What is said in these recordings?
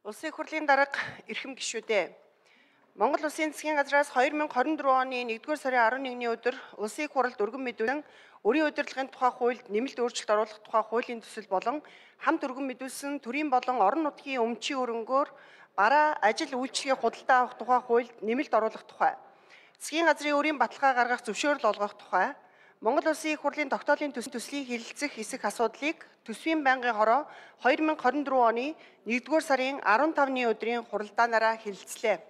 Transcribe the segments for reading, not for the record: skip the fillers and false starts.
Улсын их хурлын дарга эрхэм гишүүдээ. Монгол Улсын засгийн газраас 2024 оны 1-р сарын 11-ний өдөр Улсын их хурлд өргөн мэдүүлэн өрийн удирдлагын тухай хуульд нэмэлт өөрчлөлт оруулах тухай хуулийн төсөл болон хамт өргөн мэдүүлсэн төрийн болон орон нутгийн өмчийн өрөнгөөр бараа ажил үйлчлэгийг худалдаа авах тухай хуульд нэмэлт оруулах тухай. Засгийн газрын өрийн баталгаа гаргах зөвшөөрөл олгох тухай. Монгол Улсын их хурлын тогтоолын төслийн хэлэлцэх хэсэг асуудлыг төсвийн байнгын хороо 2024 оны 1-р сарын 15-ны өдрийн хуралдаанаараа хэлэлцлээ.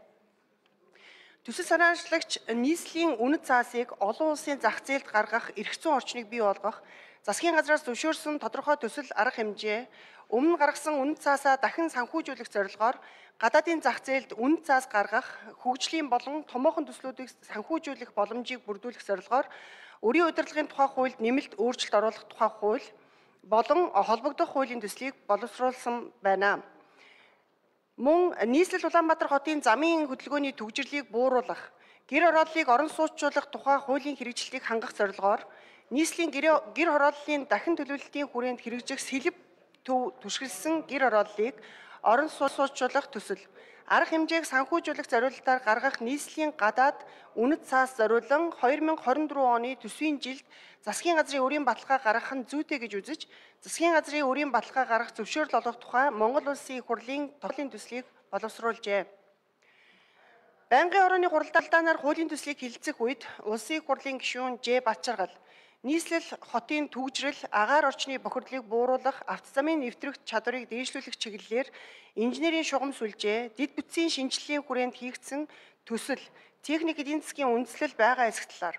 Төсөл санаачлагч нийслэлийн үнэт цаасыг олон улсын зах зээлд гаргах эрх зүйн орчныг бий болгох, засгийн газраас зөвшөөрсөн тодорхой төсөл арга хэмжээ, өмнө гаргасан үнэт цаасаа дахин санхүүжүүлэх зорилгоор гадаадын зах зээлд үнэт цаас гаргах, хөгжлийн болон томоохон төслүүдийг санхүүжүүлэх боломжийг бүрдүүлэх зорилгоор өрийн удирдлагын тухай хуульд нэмэлт өөрчлөлт оруулах тухай хууль болон холбогдох хуулийн төслийг боловсруулсан байна. Мөн нийслэл Улаанбаатар хотын замын хөдөлгөөний төвжирлийг бууруулах, гэр хорооллыг орон сууцчлах тухай хуулийн хэрэгжилтийг хангах зорилгоор нийслэлийн гэр хорооллын дахин төлөвлөлтийн хүрээнд хэрэгжих сэлб төв түшгэлсэн гэр хорооллыг орон сууцчлах төсөл, арга хэмжээг санхүүжүүлэх зорилтоор гаргах нийслэлийн гадаад үнэт цаас зориулан 2024 оны төсвийн жилд засгийн газрын өрийн баталгаа гаргах нь зүйтэй гэж үзэж, засгийн газрын өрийн баталгаа гаргах зөвшөөрөл олгох тухай Монгол Улсын их хурлын тогтоолын төслийг боловсруулжээ. Байнгын хорооны хуралдаанаар хуулийн төслийг хэлэлцэх үед Улсын их хурлын гишүүн Ж. Батчаргал нийслэл хотын төвжрэл, агаар орчны бохирдлыг бууруулах, авто замын нэвтрэх чадварыг дээшлүүлэх чиглэлээр инженерийн шугам сүлжээ, дэд бүтцийн шинжилгээний хүрээнд хийгдсэн төсөл, техник эдийн засгийн үндэслэл байгаа эсэх талаар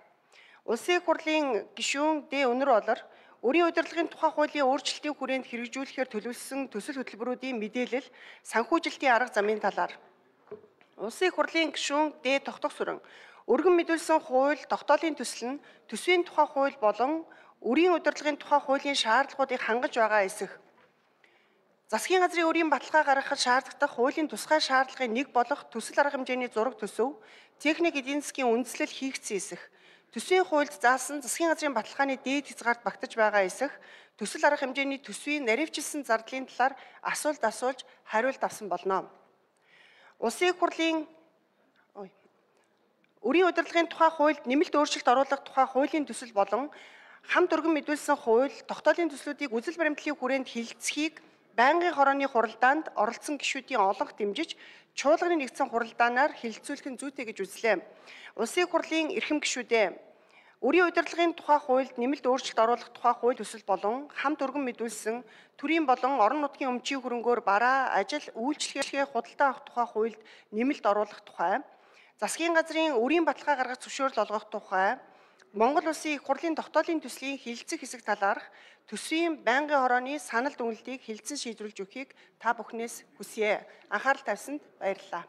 Улсын их хурлын гишүүн Д. Өнөр Олор өрийн удирдлагын тухай хуулийн өөрчлөлтийн хүрээнд хэрэгжүүлэхээр төлөвлөсөн төсөл хөтөлбөрүүдийн мэдээлэл, санхүүжилтийн арга замын талаар Улсын их хурлын гишүүн Д. Тогтох Сүрэн өргөн мэдүүлсэн хууль, тогтоолын төсөл нь төсвийн тухай хууль болон өрийн удирдлагын тухай хуулийн шаардлагуудыг хангаж байгаа эсэх. Засгийн газрын өрийн баталгаа гаргахад шаардлагатай хуулийн тусгай шаардлагын нэг болох төсөл арга хэмжээний зураг төсөв, техник эдийн засгийн үндэслэл хийгдсэн эсэх. Төсвийн хуульд заасан засгийн газрын баталгааны дээд хязгаарт багтаж байгаа эсэх. Төсөл арга хэмжээний төсвийн наривчилсан зардлын талаар асуулт асууж хариулт авсан болно. Улсын их хурлын өрийн удирдлагын тухай хуульд нэмэлт өөрчлөлт оруулах тухай хуулийн төсөл болон хамт өргөн мэдүүлсэн хууль, тогтоолын төслүүдийг үзэл баримтлалын хүрээнд хэлэлцэхийг байнгын хорооны хуралдаанд оролцсон гишүүдийн олонх дэмжиж, чуулганы нэгдсэн хуралдаанаар хэлэлцүүлэх нь зүйтэй гэж үзлээ. Улсын их хурлын эрхэм гишүүдээ өрийн удирдлагын тухай хуульд нэмэлт өөрчлөлт оруулах тухай хууль төсөл болон хамт өргөн мэдүүлсэн төрийн болон орон нутгийн өмчийн хөрөнгөөр бараа, ажил, үйлчлэгээ худалдаа авах тухай хуульд нэмэлт оруулах тухай, засгийн газрын өрийн баталгаа гаргах зөвшөөрөл олгох тухай, Монгол Улсын их хурлын тогтоолын төслийн хэлэлцэх хэсэг талаарх төсвийн байнгын хорооны санал дүгнэлтийг хэлэлцэн шийдвэрлэж өгөхийг та бүхнээс хүсье. Анхаарал тавьсанд баярлалаа.